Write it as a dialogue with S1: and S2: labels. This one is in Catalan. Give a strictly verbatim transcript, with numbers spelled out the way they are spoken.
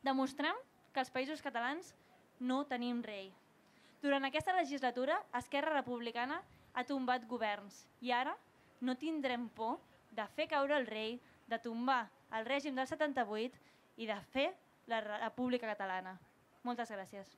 S1: Demostrem que els països catalans no tenim rei. Durant aquesta legislatura, Esquerra Republicana ha tombat governs i ara no tindrem por de fer caure el rei, de tombar el règim del setanta-vuit i de fer la República Catalana. Moltes gràcies.